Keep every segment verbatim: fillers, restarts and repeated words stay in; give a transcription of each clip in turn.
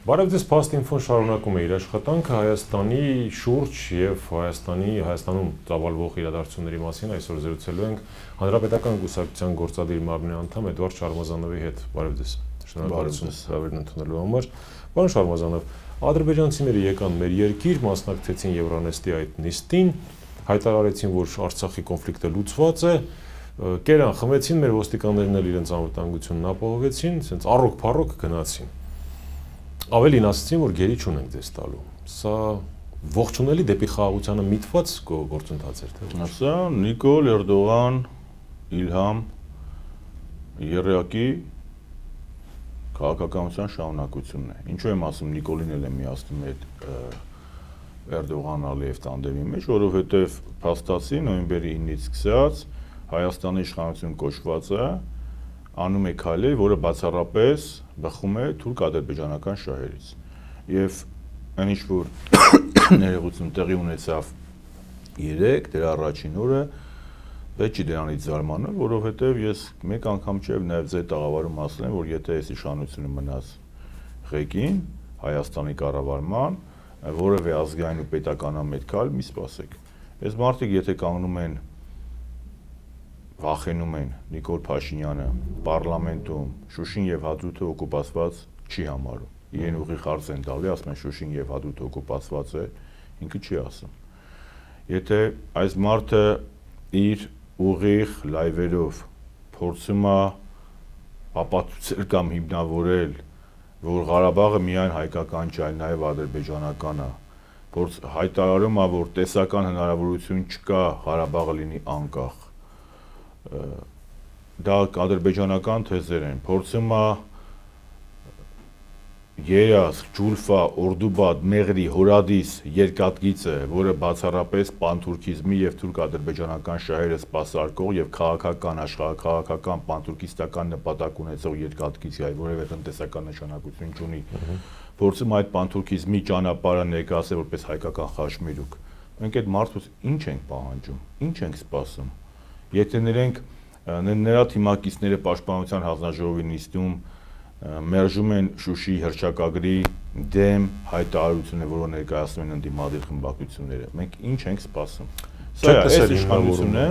Բարև ձեզ, Fast Info-ն շարունակում է իր աշխատանքը Հայաստանի շուրջ եւ Հայաստանի Հայաստանում ծավալվող իրադարձությունների մասին այսօր զրուցելու ենք Հանրապետական կուսակցության գործադիր մարմնի անդամ Էդվարդ Շարմազանովի հետ։ Բարև ձեզ։ Շնորհակալություն հավերն ընդունելու համար։ Պարոն Շարմազանով, ադրբեջանցիները եկան մեր երկիր, մասնակցեցին Euronest-ի այդ նիստին, հայտարարեցին, որ Արցախի կոնֆլիկտը լուծված է, կերան, խմեցին, մեր ոստիկաններն էլ իրենց անվտանգությունն ապահովեցին, ասենց առոք-փառոք գնացին։ Ավելին ասացին, որ գերի չունենք ձեզ տալու։ Սա ողջունելի դեպի խաղաղությանը միտված գործընթաց էր, թե՞ Սա Նիկոլ Էրդողան, Իլհամ Եռյակի քաղաքականության շարունակությունն է։ Ինչու եմ ասում Նիկոլին էլ եմ միացնում այդ Էրդողան-Ալիև տանդեմի մեջ, որովհետև փաստացի նոյեմբերի իննից սկսած Հայաստանի իշխանություն կոչված է անում է քայլեր, որը բացառապես բխում է թուրք-ադրբեջանական շահերից։ Եվ այն ինչ որ ներողություն տեղի ունեցավ երեք, դրա առաջին օրը պետք չի դրանից զարմանալ, որովհետև ես մեկ անգամ չէ նաև ձեր տաղավարում ասել եմ, որ եթե այս իշխանությունը մնաց ղեկին Հայաստանի կառավարման, որևէ ազգային ու պետականամետ քայլ մի սպասեք։ Այս մարդիկ եթե կանգնում են վախենում են Նիկոլ Փաշինյանը պարլամենտում Շուշին եւ Հադրութը օկուպացված չի համարում։ Իրեն ուղիղ հարց են տալի, ասում են Շուշին եւ Հադրութը օկուպացված է, ինքը չի ասում։ Եթե այս մարդը իր ուղիղ լայվերով փորձում է ապացուցել կամ հիմնավորել, որ Ղարաբաղը միայն հայկական չէ, այլ նաեւ ադրբեջանական է, փորձ հայտարարում է, որ տեսական հնարավորություն չկա Ղարաբաղը լինի անկախ։ Դա ադրբեջանական թեզեր են, փորձում է Երազ, Ջուլֆա, Օրդուբադ, Մեղրի, Հորադիս երկաթգիծը, որը բացառապես պանթուրքիզմի եւ թուրք-ադրբեջանական շահերը սպասարկող եւ քաղաքական, աշխարհաքաղաքական, պանթուրքիստական նպատակ ունեցող երկաթգիծ է, որևէ տնտեսական նշանակություն չունի։ Փորձում այդ պանթուրքիզմի ճանապարհը ներկայացնել որպես հայկական խաչմերուկ։ Մենք այդ մարդուց ինչ ենք պահանջում, ինչ ենք սպասում։ Եթե նրանք նրա թիմակիցները Պաշտպանության հանձնաժողովի նիստում մերժում են Շուշիի հռչակագրի դեմ հայտարարությունը, որը ներկայացնում են ընդդիմադիր խմբակցությունները, մենք ինչ ենք սպասում։ Սա է իշխանությունը,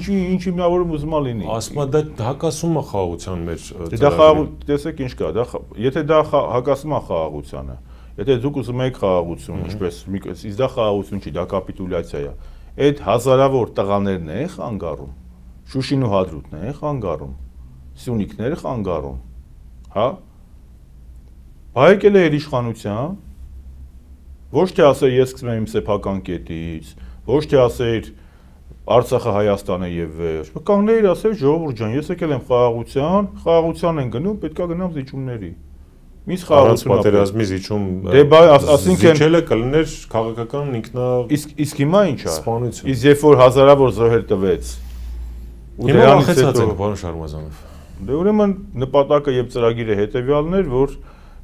ինչի ինչ հիմնավորում ուզում է լինի։ Ասում է դա հակասում է խաղաղության մեջ։ Դա խաղաղ, տեսեք ինչ կա, դա եթե դա հակասում է խաղաղությանը, եթե դուք ուզում եք խաղաղություն, ինչպես իսկ դա խաղաղություն չի, դա կապիտուլյացիա է։ Այդ հազարավոր տղաներն է խանգարում, Շուշին ու Հադրութն է խանգարում, Սյունիքները խանգարում, հա։ Բայեկել է իր իշխանության, ոչ թե ասել ես սկսում եմ իմ սեփական կետից, ոչ թե ասել Արցախը Հայաստան է եւ վերջ, կանգնել ասել ժողովուրդ ջան, ես եկել եմ խաղաղության, խաղաղության են գնում, պետքա գնամ զիջումների։ Միս խաղաղություն պատերազմի զիջում դե բայ ասինքն զիջելը կլներ քաղաքական ինքնա իսկ իսկ հիմա ինչ է։ Սպանություն։ Իսկ երբ որ հազարավոր զոհեր տվեց ու դրանից հետո պարոն Շարմազանով։ Դե ուրեմն նպատակը եւ ծրագիրը հետեւյալն էր, որ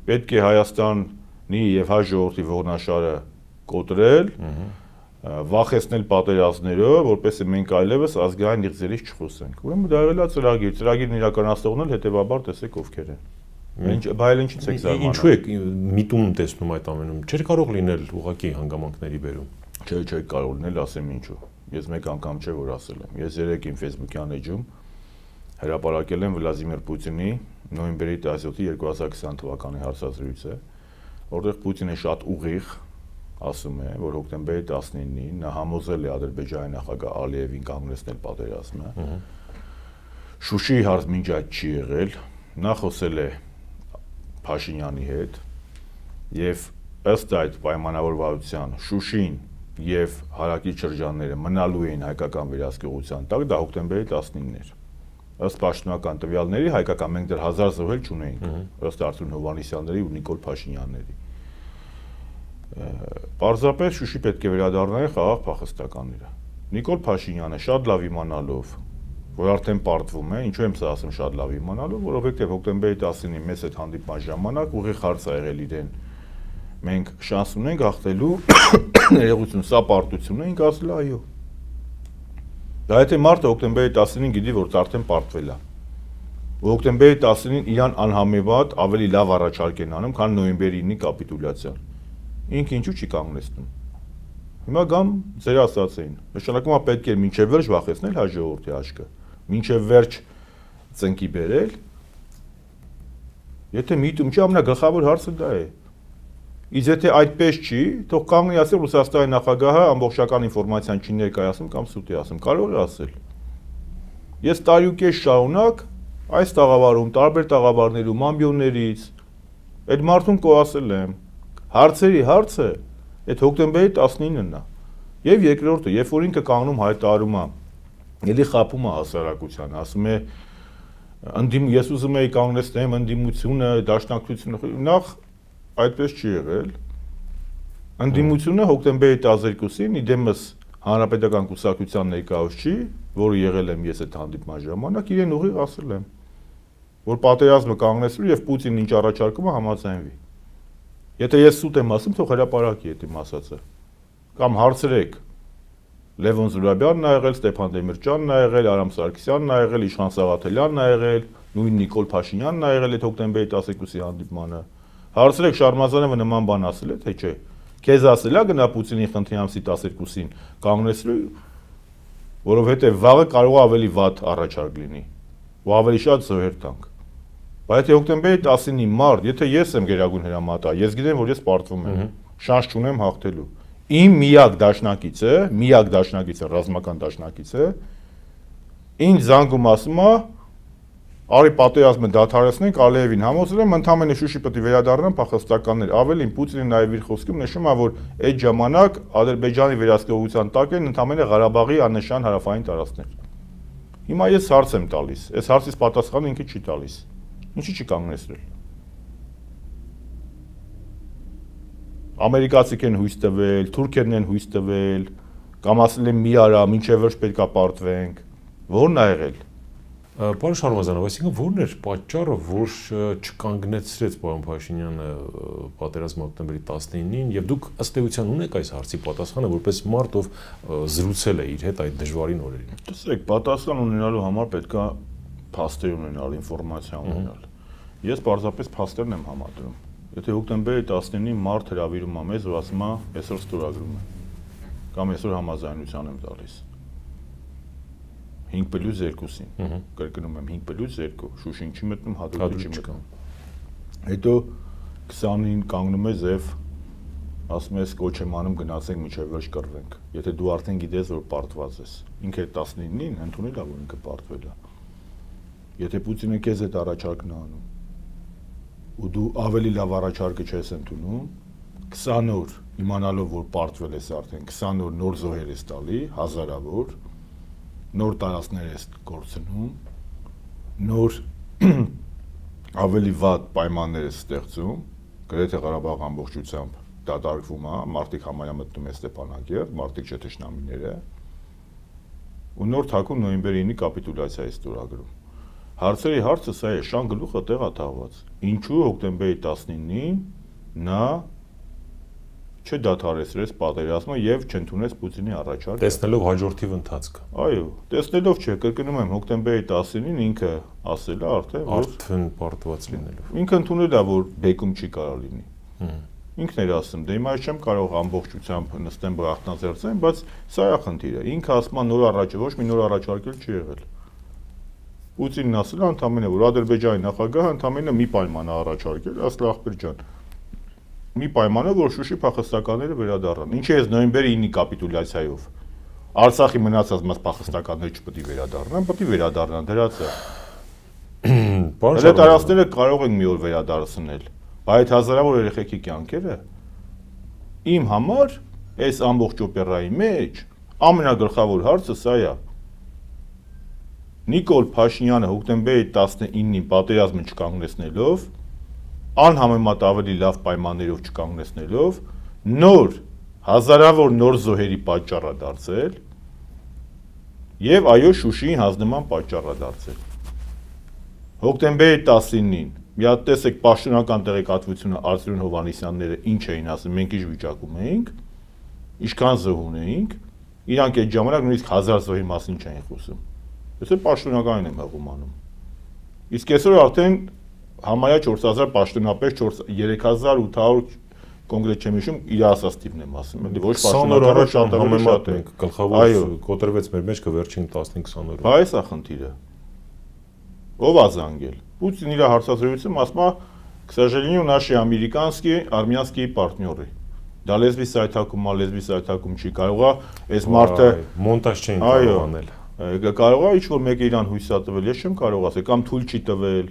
պետք է Հայաստանի եւ հայ ժողովրդի ողնաշարը կոտրել, վախեցնել պատերազմներով, որպեսզի մենք այլևս ազգային իղձերից չխոսենք։ Ուրեմն դա եղել է ծրագիր, ծրագիրն իրականացնողն էլ հետեւաբար տեսեք ովքեր են։ Ինչ բայել ինչից եք զարմանում։ Ինչու եք միտում տեսնում այդ ամենում։ Չէր կարող լինել ուղղակի հանգամանքների բերում։ Չէ, չէ կարող լինել, ասեմ ինչու։ Ես մեկ անգամ չէ որ ասել եմ։ Ես երեք իմ Facebook-յան էջում հրապարակել եմ Վլադիմիր Պուտինի նոյեմբերի տասնյոթի երկու հազար քսան թվականի հարցազրույցը, որտեղ Պուտինը շատ ուղիղ ասում է, որ հոկտեմբերի տասնինին նա համոզել է Ադրբեջանի նախագահ Ալիևին կանգնեցնել պատերազմը։ Շուշիի հարց մինչ այդ չի եղել, նա խոսել է Փաշինյանի հետ եւ ըստ այդ պայմանավորվածության Շուշին եւ հարակից շրջանները մնալու էին հայկական վերահսկողության տակ, դա հոկտեմբերի տասնինն էր։ Ըստ պաշտոնական տվյալների հայկական մենք դեռ հազար զոհել չունեինք, ըստ Արթուր Հովհաննիսյանների ու Նիկոլ Փաշինյանների։ Պարզապես Շուշի պետք է վերադառնային խաղաղ փախստականները։ Նիկոլ Փաշինյանը շատ լավ իմանալով, որ արդեն պարտվում է, ինչու եմ սա ասում շատ լավ իմանալով, որովհետև հոկտեմբերի տասնինի մեծ այդ հանդիպման ժամանակ ուղիղ հարց ա եղել իրեն։ Մենք շանս ունենք հաղթելու ներողություն, սա պարտություն է, ինքը ասել է այո։ Դա եթե մարդը հոկտեմբերի տասնինին գիտի, որ արդեն պարտվել է։ Հոկտեմբերի տասնինին իրան անհամեմատ ավելի լավ առաջարկ են անում, քան նոյեմբերի ինի կապիտուլյացիան։ Ինքը ինչու չի կանգնեցնում։ Հիմա գամ ձեր ասածային։ Նշանակում է պետք է մինչև վերջ վախեցնել հայ ժողովրդի աչքը։ Մինչև վերջ ծնկի բերել։ Եթե միտում չի, ամենագլխավոր հարցը դա է։ Իսկ եթե այդպես չի, թող կանգնի ասել Ռուսաստանի նախագահը ամբողջական ինֆորմացիան չի ներկայացնում կամ սուտ է ասում, կարող է ասել։ Ես տարի ու կես շարունակ այս տաղավարում, տարբեր տաղավարներում, ամբիոններից այդ մարդուն կոասել եմ։ Հարցերի հարցը այդ հոկտեմբերի տասնինն է։ Եվ երկրորդը, երբ որ ինքը կանգնում հայտարարում է, ելի խափում է հասարակության, ասում է ընդդիմ ես ուզում եի կանգնեցնեմ ընդդիմությունը, դաշնակցությունը, նախ այդպես չի եղել։ Ընդդիմությունը հոկտեմբերի տասներկուսին իդեմս հանրապետական կուսակցության ներկայացուցիչ, որը եղել եմ ես այդ հանդիպման ժամանակ, իրեն ուղիղ ասել եմ, որ պատերազմը կանգնեցրու եւ Պուտինն ինչ առաջարկում է համաձայնվի։ Եթե ես սուտ եմ ասում, թող հրապարակի այդ իմ ասածը։ Կամ հարցրեք Լևոն Զուրաբյանն ա եղել, Ստեփան Դեմիրճյանն ա եղել, Արամ Սարգսյանն ա եղել, Իշխան Սաղաթելյանն ա եղել, նույն Նիկոլ Փաշինյանն ա եղել այդ հոկտեմբերի տասներկուսի հանդիպմանը։ Հարցրեք Շարմազանովը նման բան ասել է, թե չէ։ Քեզ ասել է գնա Պուտինի խնդրի ամսի տասներկուսին կանգնեցրու, որովհետեւ վաղը կարող է ավելի վատ առաջարկ լինի, ու ավելի շատ զոհեր տանք։ Բայց եթե հոկտեմբերի տասնինի մարտ, եթե ես եմ գերագույն հրամանատար, ես գիտեմ, որ ես պարտվում եմ, շանս չունեմ հաղթելու։ Իմ միակ դաշնակիցը, միակ դաշնակիցը, ռազմական դաշնակիցը, ինձ զանգում ասում է, արի պատերազմը դադարեցնենք, Ալիևին համոզել եմ, ընդամենը Շուշի պետք է վերադառնան փախստականներ։ Ավելին Պուտինը նաև իր խոսքում նշում է, որ այդ ժամանակ Ադրբեջանի վերահսկողության տակ են ընդամենը Ղարաբաղի աննշան հարավային տարածքներ։ Հիմա ես հարց եմ տալիս, այս հարցից պատասխանը ինքը չի տալիս։ Ինչի՞ չի կանգնեցրել։ Ամերիկացիք են հույս տվել, թուրքերն են հույս տվել, կամ ասել են մի արա, մինչև վերջ պետք է պարտվենք։ Ո՞րն ա եղել։ Պարոն Շարմազանով, այսինքն ո՞րն էր պատճառը, որ չկանգնեցրեց պարոն Փաշինյանը պատերազմը հոկտեմբերի տասնինին, եւ դուք ըստ էության ունեք այս հարցի պատասխանը, որպես մարդ, ով զրուցել է իր հետ այդ դժվարին օրերին։ Տեսեք, պատասխան ունենալու համար պետք է փաստեր ունենալ, ինֆորմացիա ունենալ։ Ես պարզապես փաստերն եմ համադրում։ Եթե հոկտեմբերի տասնինին մարդ հրավիրում է մեզ, որ ասում է, այսօր ստորագրում է, կամ այսօր համաձայնության եմ տալիս։ հինգ պլյուս երկուսին, կրկնում եմ հինգ պլյուս երկու, Շուշին չի մտնում, Հադրութը չի մտնում։ Հետո քսանին կանգնում է Զև, ասում ես կոչ եմ անում գնացենք մինչև վերջ կռվենք։ Եթե դու արդեն գիտես, որ պարտված ես, ինքը տասնինին ընդունել է, որ ինքը պարտվել է։ Եթե Պուտինը քեզ այդ առաջարկն է անում, ու դու ավելի լավ առաջարկը չես ընդունում, քսան օր իմանալով, որ պարտվել ես արդեն, քսան օր նոր զոհեր ես տալի, հազարավոր, նոր տարածքներ ես կորցնում, նոր ավելի վատ պայմաններ ես ստեղծում, գրեթե Ղարաբաղ ամբողջությամբ դատարկվում է, մարդիկ համարյա մտնում է Ստեփանակերտ, մարդիկ չէ թշնամիները, ու նոր թաքուն նոյեմբերի ինի կապիտուլյացիա է ստորագրում։ Հարցերի հարցը սա է, Շան գլուխը տեղ է թաղված։ Ինչու հոկտեմբերի տասնինին նա չդադարեցրեց պատերազմը եւ չընդունեց Պուտինի առաջարկը։ Տեսնելով հաջորդիվ ընթացքը։ Այո, տեսնելով չէ, կրկնում եմ, հոկտեմբերի տասնինին ինքը ասել է արդեն, որ արդեն պարտված լինելով։ Ինքը ընդունել է, որ բեկում չի կարող լինի։ Ինքն էր ասում, դե հիմա չեմ կարող ամբողջությամբ նստեմ բախտնաձեռնեմ, բայց սա է խնդիրը։ Ինքը ասում է նոր առաջ, ոչ մի նոր առաջարկել չի եղել։ Պուտինն ասել է ընդամենը, որ Ադրբեջանի նախագահը ընդամենը մի պայման է առաջարկել, ասել ախպեր ջան։ Մի պայմանը, որ Շուշի փախստականները վերադառնան։ Ինչի է նոյեմբերի ինի կապիտուլյացիայով։ Արցախի մնացած մաս փախստականները չպետք է վերադառնան, պետք է վերադառնան, դրած է։ Այդ տարածքները կարող են մի օր վերադարձնել, բայց հազարավոր երեխեքի կյանքերը իմ համար այս ամբողջ օպերայի մեջ ամենագլխավոր հարցը սա է։ Նիկոլ Փաշինյանը հոկտեմբերի տասնինին պատերազմը չկանգնեցնելով, անհամեմատ ավելի լավ պայմաններով չկանգնեցնելով, նոր հազարավոր նոր զոհերի պատճառ է դարձել եւ այո Շուշիին հանձնման պատճառ է դարձել։ Հոկտեմբերի տասնինին մի հատ տեսեք պաշտոնական տեղեկատվությունը Արծրուն Հովհաննիսյանները ինչ էին ասում, մենք ինչ վիճակում էինք, ինչքան զոհ ունեինք, իրանք այդ ժամանակ նույնիսկ հազար զոհի մասին չէին խոսում։ Ես էլ պաշտոնականին եմ հղում անում։ Իսկ այսօր արդեն համարյա չորս հազար պաշտոնապես երեք հազար ութ հարյուր կոնկրետ չեմ հիշում, իր ասած տիպն եմ ասում, էլի ոչ պաշտոնական շատ ավելի շատ է։ Գլխավոր կոտրվեց մեր մեջ վերջին տասնհինգ քսան օրը։ Բայց է խնդիրը։ Ով է զանգել։ Պուտին իր հարցազրույցում ասում է, к сожалению, наши американские, армянские партнеры։ Դա լեզվի սայթակում, լեզվի սայթակում չի կարողա, այս մարդը մոնտաժ չէին կարող անել։ Կարող է ինչ-որ մեկը իրան հույս է տվել, ես չեմ կարող ասել, կամ թույլ չի տվել։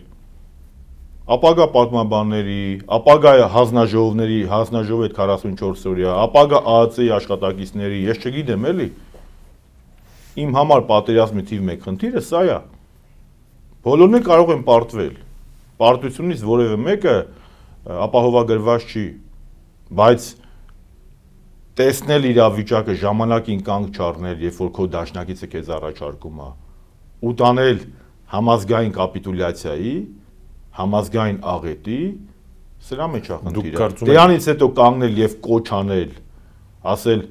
Ապագա պատմաբանների, ապագա հանձնաժողովների, հանձնաժողովի այդ քառասունչորս օրյա, ապագա ԱԱՑ-ի աշխատակիցների, ես չգիտեմ էլի։ Իմ համար պատերազմի թիվ մեկ խնդիրը սա է։ Բոլորն են կարող են պարտվել։ Պարտությունից որևէ մեկը ապահովագրված չի, բայց տեսնել իրավիճակը ժամանակին կանգ չառնել, երբ որ քո դաշնակիցը քեզ առաջարկում է, ու տանել համազգային կապիտուլյացիայի, համազգային աղետի, սրա մեջ է խնդիրը։ Դրանից հետո կանգնել եւ կոչ անել, ասել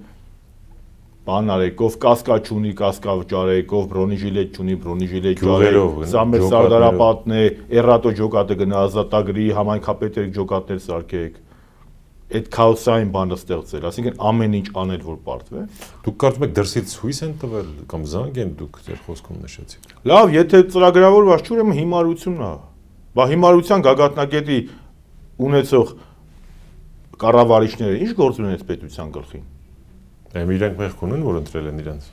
բան արեք, ով կասկա չունի, կասկա վճարեք, ով բրոնիժիլետ չունի, բրոնիժիլետ վճարեք, սա մեր սարդարապատն է, էռատո ջոկատը գնա ազատագրի, համայնքապետեր ջոկատներ սարքեք։ Այդ քաոսային բանը ստեղծել, այսինքն ամեն ինչ անել, որ պարտվի։ Դուք կարծում եք դրսից հույս են տվել կամ զանգ են դուք ձեր խոսքում նշեցիք։ Լավ, եթե ծրագրավորված չէ, ուրեմն հիմարությունն է։ Բա հիմարության գագաթնակետի ունեցող կառավարիչները ինչ գործ ունեն այդ պետության գլխին։ Դե իրենք մեղք ունեն, որ ընտրել են իրենց։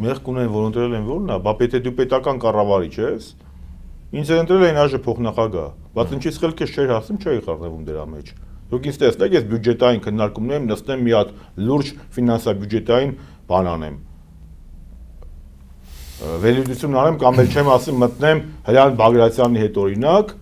Մեղք ունեն, որ ընտրել են որն է, բա պետք է դու պետական կառավարիչ ես։ Ինձ ընտրել էին այժմ փոխնախագահ, բայց ինչի սխալքես չէր հասնում, չէի խառնվում դրա մեջ։ Դուք ինձ տեսնեք, ես բյուջետային քննարկումներում նստեմ մի հատ լուրջ ֆինանսա-բյուջետային բան անեմ։ Վերլուծություն անեմ կամ էլ չեմ ասում մտնեմ Հրանտ Բագրատյանի հետ օրինակ,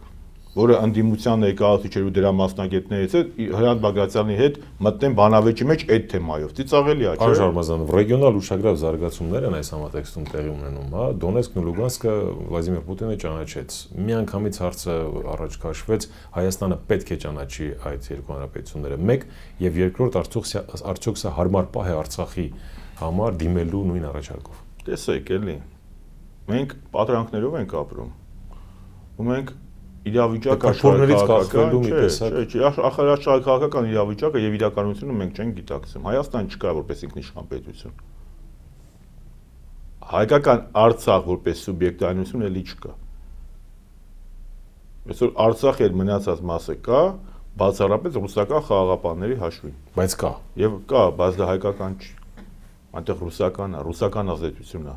որը ընդդիմության ներկայացուցիչ էր ու դրա մասնագետներից է, Հրանտ Բագրատյանի հետ մտնեմ բանավեճի մեջ այդ թեմայով։ Ծիծաղելի է, չէ՞։ Պարոն Շարմազանով, ռեգիոնալ ուշագրավ զարգացումներ են այս համատեքստում տեղի ունենում, հա, Դոնեցկն ու Լուգանսկը Վլադիմիր Պուտինը ճանաչեց։ Միանգամից հարցը առաջ քաշվեց, Հայաստանը պետք է ճանաչի այդ երկու հանրապետությունները։ Մեկ եւ երկրորդ արդյոք սա հարմար պահ է Արցախի համար դիմելու նույն առաջարկով։ Տեսեք, էլի։ Մենք պատրանքներով ենք ապրում։ Ու մենք իրավիճակը աշխարհակաղակական մի տեսակ, չէ, աշխարհակաղակական իրավիճակը եւ իրականությունը մենք չենք գիտակցում։ Հայաստան չկա որպես ինքնիշխան պետություն։ Հայկական Արցախ որպես սուբյեկտայնություն էլի չկա։ Այսօր Արցախի այդ մնացած մասը կա, բացառապես ռուսական խաղաղապահների հաշվին։ Բայց կա։ Եվ կա, բայց դա հայկական չի։ Այնտեղ ռուսական է, ռուսական ազդեցություն է։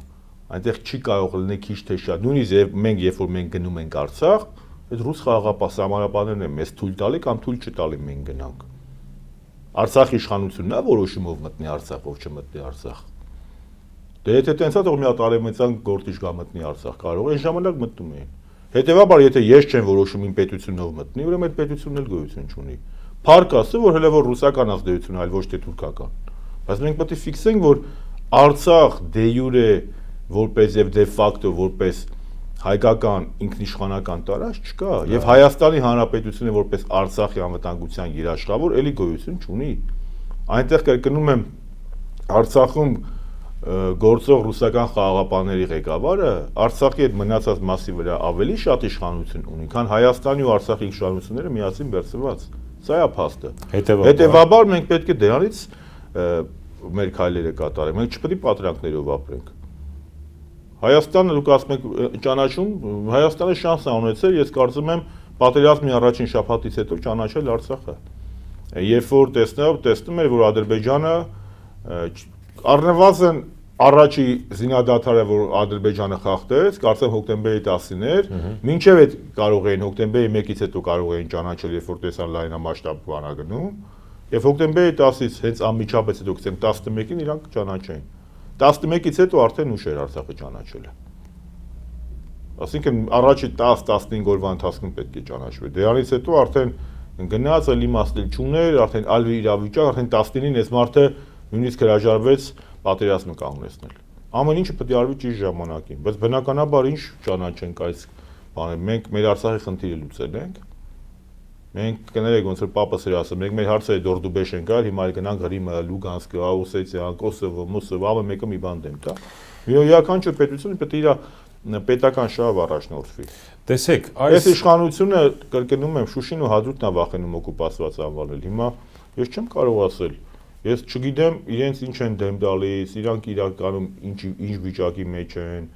Այնտեղ չի կարող լինի քիչ թե շատ։ Նույնիսկ մենք երբ որ մենք գնում ենք Արցախ, այդ ռուս խաղաղապահ սահմանապահներն են մեզ թույլ տալի կամ թույլ չտալի մենք գնանք։ Արցախի իշխանությունն է որոշում ով մտնի Արցախ, ով չմտնի Արցախ։ Դե եթե տենցա թող մի հատ արևմտյան գործիչ գա մտնի Արցախ, կարող այն ժամանակ մտնում էին։ Հետևաբար եթե ես չեմ որոշում իմ պետությունով մտնի, ուրեմն այդ պետությունն էլ գոյություն չունի։ Փառք ասը, որ հələ որ ռուսական ազդեցություն այլ ոչ թե թուրքական։ Բայց մենք պետք է ֆիքսենք, որ Արցախ դե յուրե որպես եւ դե ֆակտո որպես հայկական ինքնիշխանական տարածք չկա եւ Հայաստանի Հանրապետությունը որպես Արցախի անվտանգության երաշխավոր էլի գոյություն չունի։ Այնտեղ կրկնում եմ Արցախում գործող ռուսական խաղաղապահների ղեկավարը Արցախի այդ մնացած մասի վրա ավելի շատ իշխանություն ունի, քան Հայաստանի ու Արցախի իշխանությունները միասին բերծված։ Սա է փաստը։ Հետևաբար մենք պետք է դրանից մեր քայլերը կատարենք։ Մենք չպետք է պատրանքներով ապրենք։ Հայաստանը դուք ասում եք ճանաչում, Հայաստանը շանս է ունեցել, ես կարծում եմ պատերազմի առաջին շաբաթից հետո ճանաչել Արցախը։ Երբ որ տեսնավ, տեսնում էր, որ Ադրբեջանը առնվազն առաջի զինադադարը, որ Ադրբեջանը խախտեց, կարծեմ հոկտեմբերի տասին էր, մինչև այդ կարող էին հոկտեմբերի մեկից հետո կարող էին ճանաչել, երբ որ տեսան լայնամասշտաբ բանա գնում, եւ հոկտեմբերի տասից հենց անմիջապես հետո գցեմ տասնմեկին իրանք ճանաչեն։ տասնմեկից հետո արդեն ուշ էր Արցախը ճանաչելը։ Այսինքն առաջի տասը տասնհինգ օրվա ընթացքում պետք է ճանաչվի։ Դրանից հետո արդեն գնաց էլ իմաստել չուներ, արդեն այլ իրավիճակ, արդեն տասնինին այս մարդը նույնիսկ հրաժարվեց պատերազմը կանգնեցնել։ Ամեն ինչը պետք է արվի ճիշտ ժամանակին, բայց բնականաբար ինչ ճանաչենք այս բանը։ Մենք մեր Արցախի խնդիրը լուծել ենք։ Մենք կներեք ոնց որ պապս էր ասում, մենք մեր հարցերը դորդուբեշ ենք արել, հիմա գնանք Հրիմը, Լուգանսկը, Օսետիան, Կոսովո, Մոսովո, ամեն մեկը մի բան դեմ տա։ Յուրաքանչյուր պետություն պետք է իր պետական շահով առաջնորդվի։ Տեսեք, այս իշխանությունը կրկնում եմ Շուշին ու Հադրութն է վախենում օկուպացված անվանել։ Հիմա ես չեմ կարող ասել, ես չգիտեմ իրենց ինչ են դեմ տալիս, իրանք իրականում ինչ ինչ վիճակի մեջ են,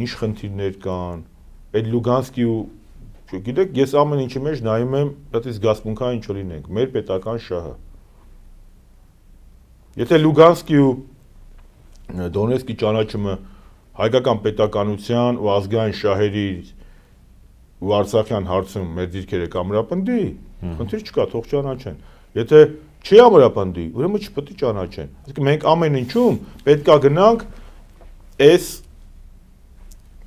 ինչ խնդիրներ կան, այդ Լուգանսկի ու գիտեք, ես ամեն ինչի մեջ նայում եմ, դա զգացմունքային ինչ լինենք, մեր պետական շահը։ Եթե Լուգանսկի ու Դոնեցկի ճանաչումը հայկական պետականության ու ազգային շահերի ու Արցախյան հարցում մեր դիրքերը կամրապնդի, խնդիր չկա, թող ճանաչեն։ Եթե չի ամրապնդի, ուրեմն չպետք է ճանաչեն։ Այսինքն մենք ամեն ինչում պետք է գնանք այս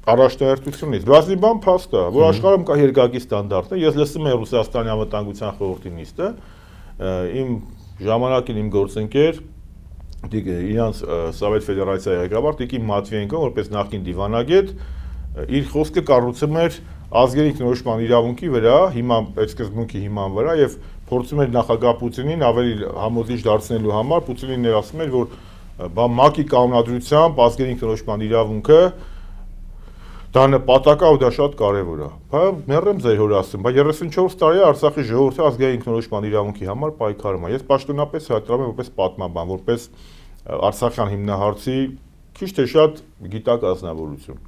առաջնահերթությունից։ Բացի բան փաստ է, որ աշխարհում կա երկակի ստանդարտը, ես լսում եմ Ռուսաստանի անվտանգության խորհրդի նիստը, իմ ժամանակին իմ գործընկեր իրանց Սովետ Ֆեդերացիայի ղեկավար Տիկին Մատվիենկոն, որպես նախկին դիվանագետ, իր խոսքը կառուցում էր ազգերի ինքնորոշման իրավունքի վրա, հիմա այդ սկզբունքի հիման վրա եւ փորձում էր նախագահ Պուտինին ավելի համոզիչ դարձնելու համար, Պուտինին ներասում էր, որ բա ՄԱԿ-ի կանոնադրությամբ ազգերի ինքնորոշման իրավունքը դա նպատակ է ու դա շատ կարևոր է։ Բա մեռեմ ձեր հոր ասում, բա երեսունչորս տարի է Արցախի ժողովրդի ազգային ինքնորոշման իրավունքի համար պայքարում է։ Ես պաշտոնապես հայտարարում եմ որպես պատմաբան, որպես Արցախյան հիմնահարցի քիչ թե շատ գիտակ ազնվորություն։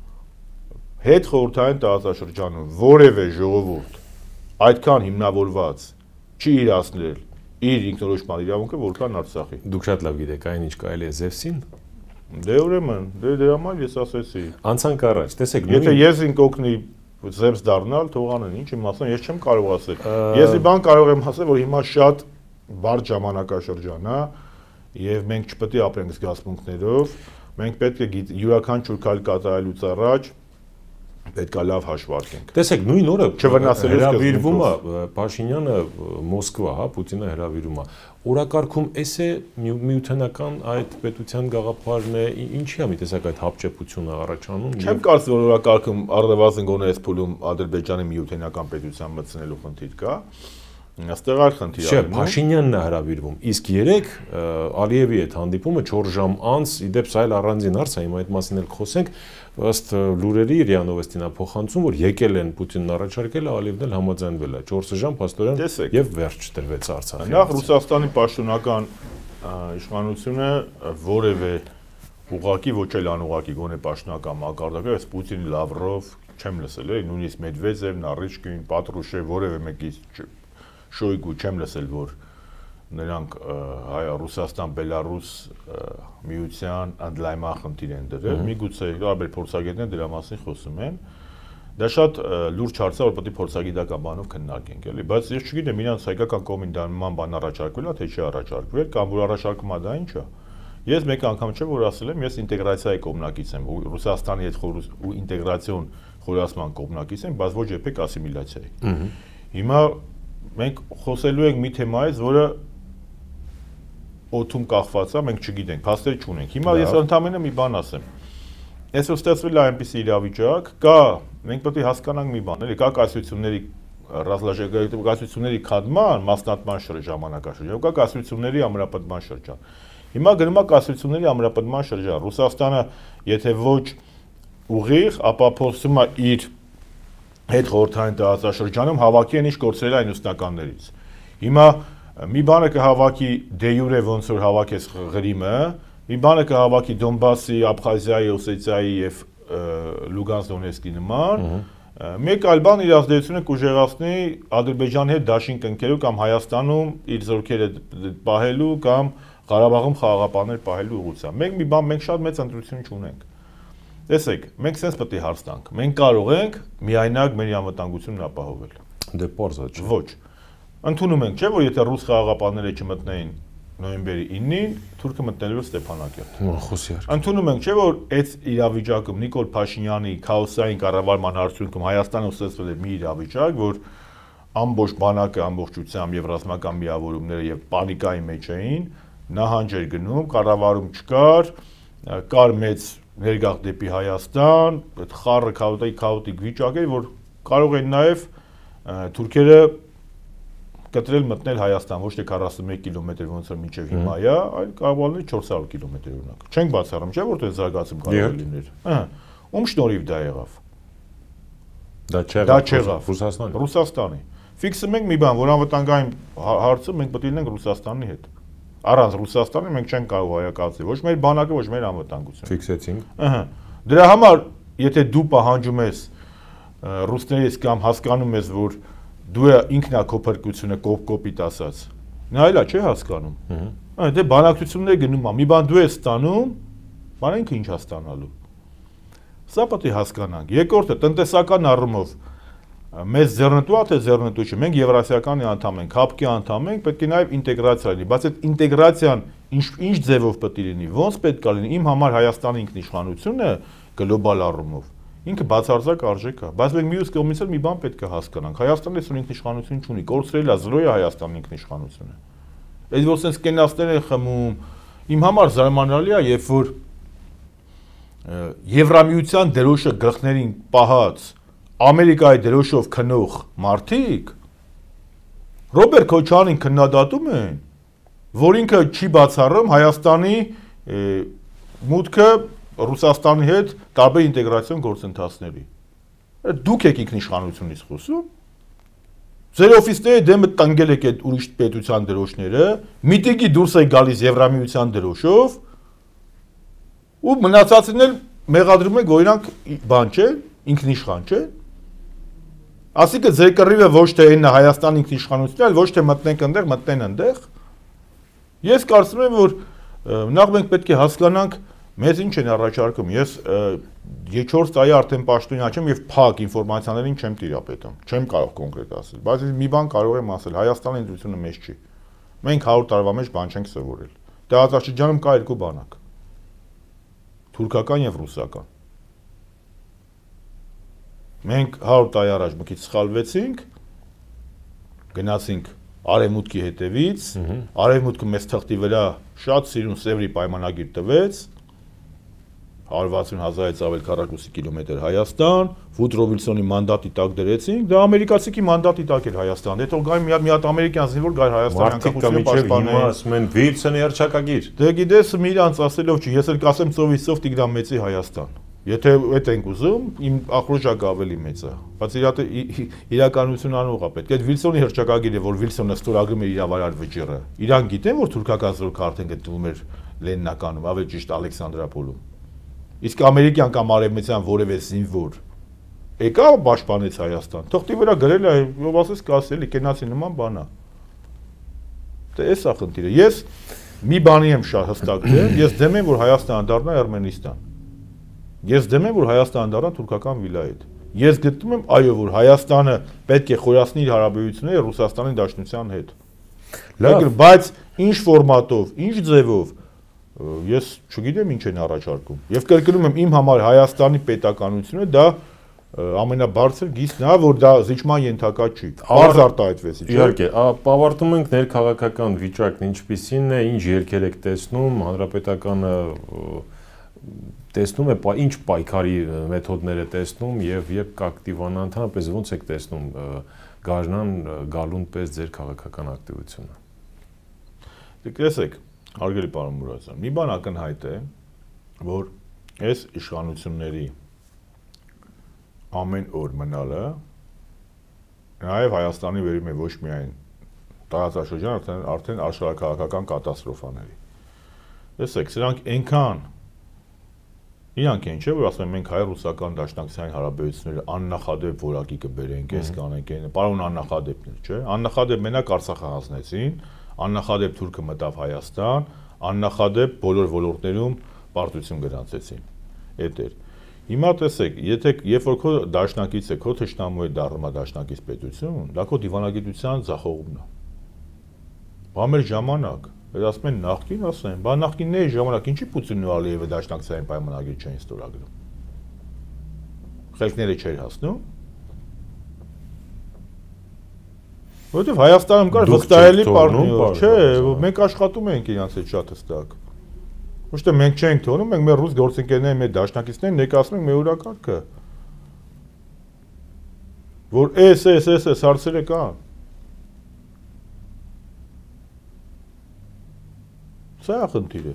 Հետ խորհրդային տարածաշրջանում որևէ ժողովուրդ այդքան հիմնավորված չի իրացնել իր ինքնորոշման իրավունքը, որքան Արցախի։ Դուք շատ լավ գիտեք այն ինչ կարելի է Զևսին։ Դե ուրեմն, դե դրա համար ես ասեցի։ Անցանք առաջ, տեսեք, եթե ես ինք օգնի Զևս դառնալ, թող անեն, ինչ իմ ասեմ, ես չեմ կարող ասել։ Ես մի բան կարող եմ ասել, որ հիմա շատ բարդ ժամանակաշրջան է, եւ մենք չպետք է ապրենք զգացմունքներով, մենք պետք է յուրաքանչյուր քայլ կատարելուց առաջ պետք է լավ հաշվարկենք։ Տեսեք, նույն օրը չվնասելով հրավիրվում է Փաշինյանը Մոսկվա, հա, Պուտինը հրավիրում է։ Օրակարգում էս է միութենական այդ պետության գաղափարն է, ինչի է մի տեսակ այդ հապճեպությունը առաջանում։ Չեմ կարծում, որ օրակարգում առնվազն գոնե այս փուլում Ադրբեջանի միութենական պետության մտցնելու խնդիր կա։ Այստեղ այլ խնդիր է։ Չէ, Փաշինյանն է հրավիրվում։ Իսկ երեք Ալիևի հետ հանդիպումը չորս ժամ անց, իդեպ սա էլ առանձին հարց է, հիմա այդ մասին էլ խոսենք, ըստ լուրերի ՌԻԱ Նովոստին է փոխանցում, որ եկել են Պուտինն առաջարկել, Ալիևն էլ համաձայնվել է։ չորս ժամ փաստորեն եւ վերջ տրվեց Արցախի։ Նախ Ռուսաստանի պաշտոնական իշխանությունը որևէ ուղղակի ոչ էլ անուղղակի գոնե պաշտոնական մակարդակը, այս Պուտին, Լավրով չեմ լսել, նույնիսկ Մեդվեդև, Նարիչկին, Պատրուշև որևէ մեկից Շոյգու չեմ լսել, որ նրանք Ռուսաստան-Բելարուս միության ընդլայնման խնդիր են դրել, միգուցե տարբեր փորձագետներ դրա մասին խոսում են, դա շատ լուրջ հարց է, որ պետք է փորձագիտական բանով քննարկենք, էլի, բայց ես չգիտեմ իրանց հայկական կողմին դա նման բան առաջարկվել է, թե չի առաջարկվել, կամ որ առաջարկում է դա ինչ է։ Ես մեկ անգամ չէ որ ասել եմ, ես ինտեգրացիայի կողմնակից եմ, Ռուսաստանի հետ ու ինտեգրացիոն խորացման կողմնակից եմ, բայց ոչ երբեք ասիմիլյացիայի։ Հիմա մենք խոսելու ենք մի թեմայից, որը օդում կախված է, մենք չգիտենք, փաստեր չունենք։ Հիմա ես ընդհանրապես մի բան ասեմ։ Այսօր ստեղծվել է այնպիսի իրավիճակ, կա, մենք պետք է հասկանանք մի բան, էլի կա կայսրությունների ռազմաշրջանների քանդման, մասնատման ժամանակաշրջան, կա կայսրությունների ամրապնդման շրջան։ Հիմա գնում է կայսրությունների ամրապնդման շրջան։ Ռուսաստանը, եթե ոչ ուղիղ, ապա փորձում է իր հետ խորհրդային տարածաշրջանում հավաքի են ինչ կորցրել այն ուսնականներից։ Հիմա մի բանը կհավաքի դե յուրե ոնց որ հավաքես Ղրիմը, մի բանը կհավաքի Դոնբասի, Աբխազիայի, Օսետիայի եւ Լուգանսկ Դոնեցկի նման, մեկ այլ բան իր ազդեցությունը կուժեղացնի Ադրբեջանի հետ դաշինք ընկելու կամ Հայաստանում իր զորքերը պահելու կամ Ղարաբաղում խաղաղապահներ պահելու ուղղությամբ։ Մենք մի բան, մենք շատ մեծ ընտրություն չունենք։ Տեսեք, մենք sense պետք է հարց տանք։ Մենք կարող ենք միայնակ մեր անվտանգությունն ապահովել։ Դե պարզ է։ Ոչ։ Ընդունում ենք, չէ՞ որ եթե ռուս խաղաղապահները չմտնեին նոյեմբերի ինին, թուրքը մտնելու էր Ստեփանակերտ։ Խոսի արք։ Ընդունում ենք, չէ՞ որ այդ իրավիճակում Նիկոլ Փաշինյանի քաոսային կառավարման արդյունքում Հայաստանը ստեղծվել է մի իրավիճակ, որ ամբողջ բանակը ամբողջությամբ եւ ռազմական միավորումները եւ պանիկայի մեջ էին, նահանջ էր գնում, կառավարում չկար, կար մեծ ներգաղթ դեպի Հայաստան, այդ խառը քաոտիկ քաոտիկ վիճակ էր, որ կարող են նաև թուրքերը կտրել մտնել Հայաստան, ոչ թե քառասունմեկ կիլոմետր ոնց որ մինչև հիմա է, այլ կարող է չորս հարյուր կիլոմետր օրինակ։ Չենք բացառում, չէ՞ որ դա զարգացում կարող է լինել։ Ահա։ Ում շնորհիվ դա եղավ։ Դա չեղավ։ Դա չեղավ Ռուսաստանի։ Ռուսաստանի։ Ֆիքսում ենք մի բան, որ անվտանգային հարցը մենք պետք է լինենք Ռուսաստանի հետ։ Առանց Ռուսաստանի մենք չենք կարող հայակացնել, ոչ մեր բանակը, ոչ մեր անվտանգությունը։ Ֆիքսեցինք։ Ահա։ Դրա համար, եթե դու պահանջում ես ռուսներից կամ հասկանում ես, որ դու ինքնա քո փրկությունը կոպ-կոպիտ ասած, նա էլա չէ հասկանում։ Ահա, դե բանակցություններ գնում ա, մի բան դու ես ստանում, բան ինքը ինչ է ստանալու։ Սա պետք է հասկանանք։ Երկրորդը տնտեսական առումով մեզ ձեռնտու է թե ձեռնտու չէ, մենք Եվրասիականի անդամ ենք, հապկի անդամ ենք, պետք է նաև ինտեգրացիա լինի, բայց այդ ինտեգրացիան ինչ ինչ ձևով պետք է լինի, ոնց պետք է լինի, իմ համար Հայաստանի ինքնիշխանությունը գլոբալ առումով ինքը բացարձակ արժեք է, բայց մենք մյուս կողմից էլ մի բան պետք է հասկանանք, Հայաստանը այսօր ինքնիշխանություն չունի, կորցրել է, զրոյ է Հայաստանի ինքնիշխանությունը։ Այդ որ sense կենասներ են խմում, իմ համար զարմանալի է, երբ որ Եվրամիության դրոշը գլխներին պահած Ամերիկայի դրոշով քնող մարդիկ Ռոբերտ Քոչարյանին քննադատում են, որ ինքը չի բացառում Հայաստանի մուտքը Ռուսաստանի հետ տարբեր ինտեգրացիոն գործընթացների։ Դուք եք ինքնիշխանությունից խոսում։ Ձեր օֆիսների դեմը տնկել եք այդ ուրիշ պետության դրոշները, միտինգի դուրս եք գալիս Եվրամիության դրոշով, ու մնացածին էլ մեղադրում եք, որ իրանք բան չէ, ինքնիշխան չէ։ Ասիկը ձեր կռիվը ոչ թե այն Հայաստանի ինքնիշխանությունն է, այլ ոչ թե մտնենք այնտեղ, մտնեն այնտեղ։ Ես կարծում եմ, որ նախ մենք պետք է հասկանանք, մեզ ինչ են առաջարկում։ Ես չորս տարի արդեն պաշտոնյա չեմ եւ փակ ինֆորմացիաներին չեմ տիրապետում։ Չեմ կարող կոնկրետ ասել, բայց մի բան կարող եմ ասել, Հայաստանի ինտուիցիոնը մեզ չի։ Մենք հարյուր տարվա մեջ բան չենք սովորել։ Տարածաշրջանում կա երկու բանակ։ Թուրքական եւ ռուսական։ Մենք հարյուր տարի առաջ մի քիչ սխալվեցինք, գնացինք արևմուտքի հետևից, արևմուտքը մեզ թղթի վրա շատ սիրուն Սևրի պայմանագիր տվեց, հարյուր վաթսուն հազարից ավել քառակուսի կիլոմետր Հայաստան, Վուդրո Վիլսոնի մանդատի տակ դրեցինք, դա ամերիկացիքի մանդատի տակ էր Հայաստան, դե թող գայ մի հատ մի հատ ամերիկյան զինվոր գայ Հայաստանի անկախությունը պաշտպանել։ Հիմա ասում են Վիլսոնի հռչակագիր։ Դե գիտես, մի իրանց ասելով չի, ես էլ կասեմ ծովիսով Տիգրան Մեծի Հայաստան։ Եթե այդ ենք ուզում, իմ ախորժակը ավելի մեծ է, բայց իրականություն անող է պետք։ Այդ Վիլսոնի հռչակագիրը, որ Վիլսոնը ստորագրում է իրավարար վճիռը, իրան գիտեն, որ թուրքական զորքը արդեն գտնվում էր Լենինականում, ավելի ճիշտ Ալեքսանդրապոլում։ Իսկ ամերիկյան կամ արևմտյան որևէ զինվոր եկա պաշտպանեց Հայաստան։ Թղթի վրա գրել է, ով ասես կասելի կենացի նման բան է։ Դե էս է խնդիրը։ Ես մի բանի եմ շատ հստակ դեմ, ես դեմ եմ, որ Հայաստանը դառնա Էրմենիստան։ Ես դեմ եմ, որ Հայաստանը դառնա թուրքական վիլայետ։ Ես գտնում եմ, այո, որ Հայաստանը պետք է խորացնի իր հարաբերությունները Ռուսաստանի Դաշնության հետ։ Լավ, բայց ինչ ֆորմատով, ինչ ձևով ես չգիտեմ ինչ են առաջարկում։ Եվ կրկնում եմ, իմ համար Հայաստանի պետականությունը դա ամենաբարձր գիծն է, որ դա զիջման ենթակա չի։ Բարձ արտահայտվեց, չէ՞։ Իհարկե, ավարտում ենք ներքաղաքական վիճակն ինչպիսին է, ինչ երկեր եք տեսնում, հանրապետականը տեսնում է, ինչ պայքարի մեթոդներ է տեսնում եւ երբ կակտիվանա ընդհանրապես ոնց եք տեսնում գարնան գալուն պես ձեր քաղաքական ակտիվությունը։ Դե տեսեք, հարգելի պարոն Մուրադյան, մի բան ակնհայտ է, որ այս իշխանությունների ամեն օր մնալը նաեւ Հայաստանի վերում է ոչ միայն տարածաշրջան, արդեն արդեն աշխարհակաղակական կատաստրոֆաների։ Տեսեք, սրանք այնքան իրանք են, չէ՞, որ ասում են մենք հայ-ռուսական դաշնակցային հարաբերությունները աննախադեպ որակի կբերենք, այս կանենք, պարոն աննախադեպն է, չէ՞։ Աննախադեպ մենակ Արցախը հանձնեցին, աննախադեպ թուրքը մտավ Հայաստան, աննախադեպ բոլոր ոլորտներում պարտություն գրանցեցին։ Էդ էր։ Հիմա տեսեք, եթե երբ որ քո դաշնակիցը քո թշնամու է դառնում դաշնակից պետություն, դա քո դիվանագիտության ձախողումն է։ Բա մեր ժամանակ Այդ ասում են նախկին, ասում են, բա նախկինների ժամանակ ինչի Պուտինն ու Ալիևը դաշնակցային պայմանագիր չէին ստորագրում։ Խելքները չէր հասնում։ Որովհետև Հայաստանում կար վստահելի պարտներ, չէ, մենք աշխատում ենք իրանց հետ շատ հստակ։ Ոչ թե մենք չենք թողնում, մենք մեր ռուս գործընկերների մեր դաշնակիցներին ներկայացնում ենք մեր օրակարգը։ Որ էս էս էս էս հարցերը կան։ Սա է խնդիրը։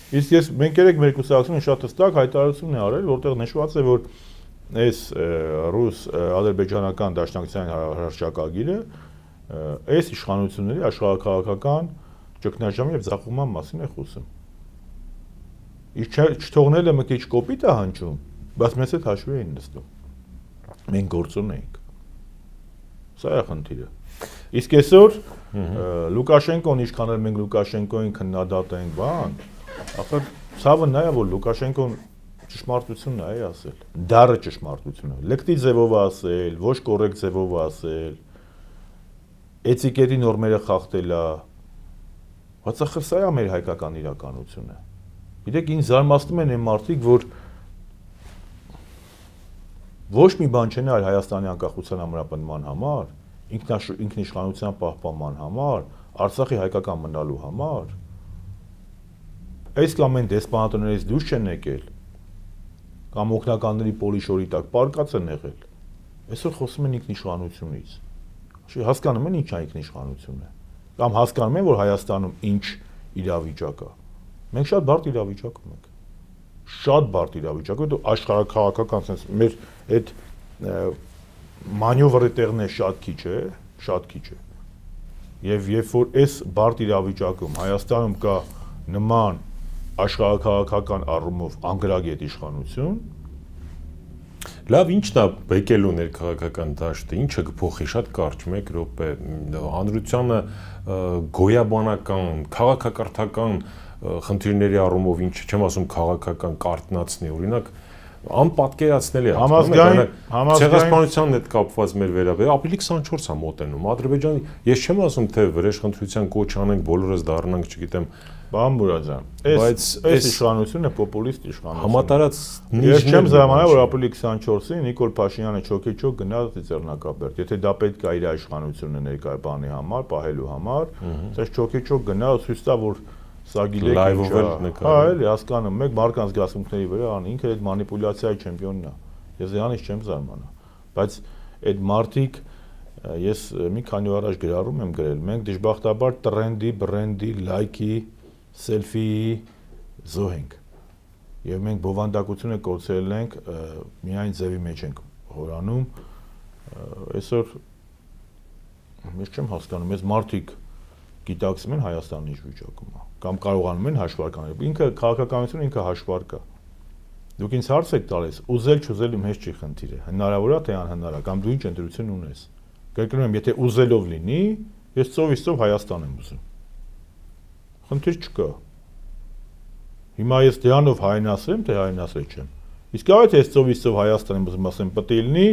Իսկ ես մենք երեք մեր կուսակցությունը շատ հստակ հայտարարություն է արել, որտեղ նշված է, որ այս ռուս ադրբեջանական դաշնակցության հռչակագիրը այս իշխանությունների աշխարհաքաղաքական ճգնաժամի եւ ձախողման մասին է խոսում։ Իսկ չթողնելը մի քիչ կոպիտ է հնչում, բայց մեզ հետ հաշվի էին նստում։ Մենք գործուն էինք։ Սա է խնդիրը։ Իսկ այսօր Լուկաշենկոն ինչքան էլ մենք Լուկաշենկոին քննադատենք, բան, ախր ցավը նա է, որ Լուկաշենկոն ճշմարտությունն է ասել։ Դառը ճշմարտությունը։ Լեկտի ձևով ասել, ոչ կոռեկտ ձևով ասել, էթիկետի նորմերը խախտել է։ Բայց ախր սա է մեր հայկական իրականությունը։ Գիտեք, ինձ զարմացնում են այն մարդիկ, որ ոչ մի բան չեն արել Հայաստանի անկախության ամրապնդման համար, ինքնիշխանության պահպանման համար, Արցախի հայկական մնալու համար։ Այս կամ այն դեսպանատներից դուրս չեն եկել, կամ օգնականների պոլիշորի տակ պարկած են եղել։ Այսօր խոսում են ինքնիշխանությունից։ Հասկանում են ինչ է ինքնիշխանությունը, կամ հասկանում են, որ Հայաստանում ինչ իրավիճակ է։ Մենք շատ բարդ իրավիճակում ենք։ Շատ բարդ իրավիճակ է, դու աշխարհաքաղաքական sense մեր այդ մանյովրի տեղն է շատ քիչ է, շատ քիչ է։ Եվ երբ որ այս բարդ իրավիճակում Հայաստանում կա նման աշխարհաքաղաքական առումով անգրագետ իշխանություն, լավ, ի՞նչն է բեկելու ներքաղաքական դաշտը, ինչը կփոխի շատ կարճ մեկ րոպե, հանրությանը գոյաբանական, քաղաքակրթական խնդիրների առումով ինչ չեմ ասում քաղաքական կարտնացնի, օրինակ անպատկերացնելի է համազգային ցեղասպանությանն հետ կապված մեր վերաբերյալ ապրիլի քսանչորսը է մոտենում Ադրբեջանի, ես չեմ ասում թե վրեժխնդրության կոչ անենք, բոլորս դառնանք, չգիտեմ, բան Բուրազյան, այս այս իշխանությունը պոպուլիստ իշխանություն է։ Համատարած ես չեմ զարմանա, որ ապրիլի քսանչորսին Նիկոլ Փաշինյանը չոքեչոք գնաց Ծիծեռնակաբերդ, եթե դա պետք է իր իշխանությունը ներկայացնի համար, պահելու համար, ասես չոքեչոք գնաց, ցույց տա, որ սա գիտեք ինչ է։ Հա, էլի հասկանում, մեկ մարկանց զգացմունքների վրա անի, ինքը այդ մանիպուլյացիայի չեմպիոնն է։ Ես դրանից չեմ զարմանա։ Բայց այդ մարդիկ ես մի քանի օր առաջ գրառում եմ գրել, մենք դժբախտաբար տրենդի, բրենդի, լայքի, սելֆիի զոհ ենք։ Եվ մենք բովանդակությունը կորցրել ենք, միայն ձևի մեջ ենք հորանում։ Այսօր ես չեմ հասկանում, այս մարդիկ գիտակցում են Հայաստանի ինչ վիճակում է, կամ կարողանում են հաշվարկանել։ Ինքը քաղաքականությունը ինքը հաշվարկ է։ Դուք ինձ հարց եք տալիս, ուզել չուզել իմ հետ չի խնդիրը, հնարավոր է թե անհնար է, կամ դու ինչ ընտրություն ունես։ Կրկնում եմ, եթե ուզելով լինի, ես ծովից ծով Հայաստան եմ ուզում։ Խնդիր չկա։ Հիմա ես դրանով հայնասեմ, թե հայնասել չեմ։ Իսկ այո, թե ես ծովից ծով Հայաստան եմ ուզում, ասեմ, պետք է լինի,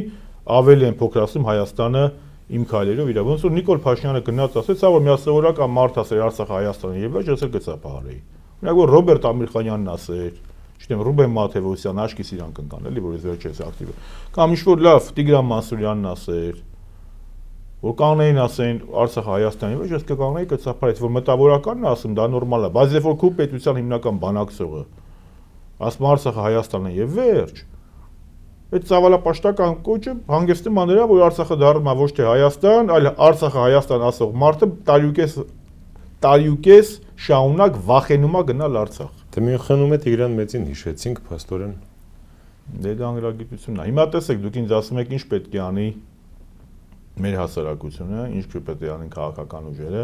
ավելի են փոքրացում Հայաստանը իմ քայլերով իրա, ոնց որ Նիկոլ Փաշինյանը գնաց ասեց, հա որ միասովորական մարդ ասեր Արցախը Հայաստանը եւ ոչ ասել գծապահարեի։ Օրինակ որ Ռոբերտ Ամիրխանյանն ասեր, չգիտեմ Ռուբեն Մաթեվոսյան աշկի սիրան կնկան, էլի որ ես վերջերս ակտիվ եմ։ Կամ ինչ որ լավ Տիգրան Մանսուրյանն ասեր, որ կանեին ասեն Արցախը Հայաստանի ոչ ես կկանեի գծապահարեի, որ մտավորականն է ասում դա նորմալ է, բայց երբ որ քու պետության հիմնական բանակցողը ասում Արցախը Հայաստանն է եւ վերջ այդ ցավալապաշտական կոչը հանգեցնում է նրա, որ Արցախը դառնում է ոչ թե Հայաստան, այլ Արցախը Հայաստան ասող մարդը տարյուկես տարյուկես շաունակ վախենում է գնալ Արցախ։ Դե Մյունխենում է Տիգրան Մեծին հիշեցինք փաստորեն։ Դե դա անգրագիտությունն է։ Հիմա տեսեք, դուք ինձ ասում եք ինչ պետք է անի մեր հասարակությունը, ինչ պետք է անեն քաղաքական ուժերը։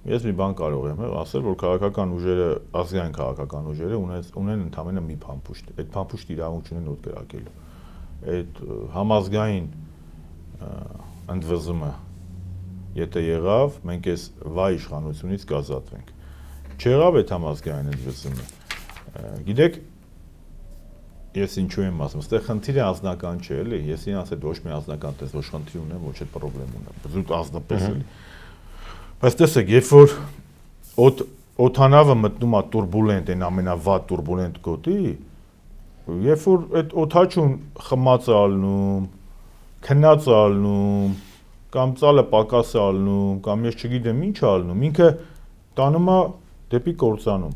Ես մի բան կարող եմ ասել, որ քաղաքական ուժերը, ազգային քաղաքական ուժերը ունեն ընդամենը մի փամփուշտ։ Այդ փամփուշտը իրավունք չունեն օդ կրակելու։ Այդ համազգային ընդվզումը եթե եղավ, մենք այս վայ իշխանությունից կազատվենք։ Չեղավ այդ համազգային ընդվզումը։ Գիտեք, ես ինչու եմ ասում, այստեղ խնդիրը անձնական չէ, էլի, ես ինձ հետ ոչ մի անձնական տես, ոչ խնդիր ունեմ, ոչ այդ խնդրեմ ունեմ, զուտ ազնապես էլի։ Բայց տեսեք, երբ որ օդանավը մտնում է турբուլենտ, այն ամենավատ турբուլենտ գոտի, երբ որ այդ օդաչուն խմած է ալնում, քնած է ալնում, կամ ծալը պակաս է ալնում, կամ ես չգիտեմ ինչ է ալնում, ինքը տանում է դեպի կործանում։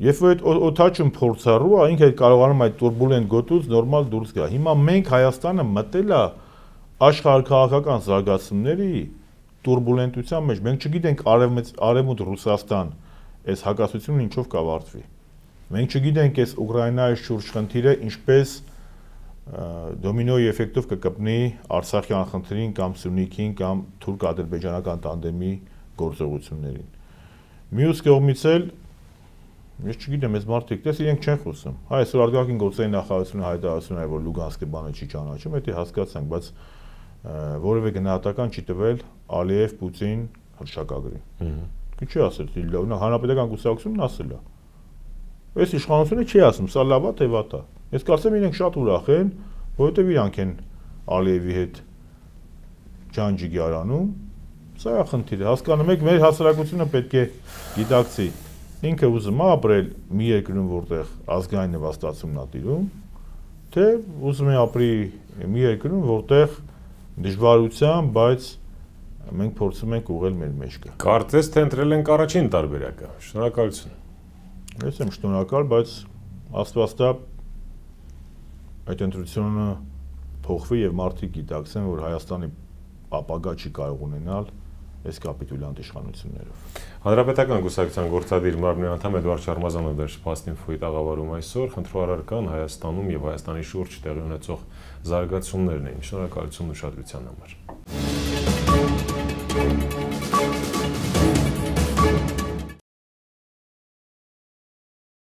Երբ որ այդ օդաչուն փորձառու է, ինքը կարողանում այդ турբուլենտ գոտուց նորմալ դուրս գա։ Հիմա մենք Հայաստանը մտել է աշխարհաքաղաքական զարգացումների турբուլենտության մեջ, մենք չգիտենք արևմուտք Ռուսաստան այս հակասությունը ինչով կավարտվի։ Մենք չգիտենք այս Ուկրաինայի շուրջ խնդիրը ինչպես դոմինոյի էֆեկտով կկպնի Արցախյան խնդրին կամ Սյունիքին կամ թուրք-ադրբեջանական տանդեմի գործողություններին։ Մյուս կողմից էլ ես չգիտեմ, այս մարդիկ դες իրենք չեն խոսում։ Հա, այսօր արտգաղթային գործերի նախարարությունը հայտարարություն է, որ Լուգանսկի բանը չի ճանաչում, դա հասկացանք, բայց որևէ գնահատական չի տվել Ալիև-Պուտին հռչակագրին։ Ինչի ասել, հանրապետական կուսակցությունն ասել է։ Այս իշխանությունը չի ասում, սա լավ է, թե վատ է։ Ես կարծեմ իրենք շատ ուրախ են, որովհետև իրանք են Ալիևի հետ ջանջիկ արանում։ Սա է խնդիրը։ Հասկանում եք, մեր հասարակությունը պետք է գիտակցի, ինքը ուզում է ապրել մի երկրում, որտեղ ազգային նվաստացումն է տիրում, թե ուզում է ապրի մի երկրում, որտեղ դժվարությամբ, բայց մենք փորձում ենք ուղղել մեր մեջքը։ Կարծես թե ընտրել ենք առաջին տարբերակը։ Շնորհակալություն։ Ես եմ շնորհակալ, բայց Աստված տա այդ ընտրությունը փոխվի եւ մարդիկ գիտակցեն, որ Հայաստանի ապագա չի կարող ունենալ այս կապիտուլյանտ իշխանություններով։ Հանրապետական կուսակցության գործադիր մարմնի անդամ Էդվարդ Շարմազանը Դերսպաստնինֆոյի տաղավարում այսօր խնդրոարարական Հայաստանում եւ Հայաստանի շուրջ տեղի ունեցող զարգացումներն էին։ Շնորհակալություն ուշադրության համար։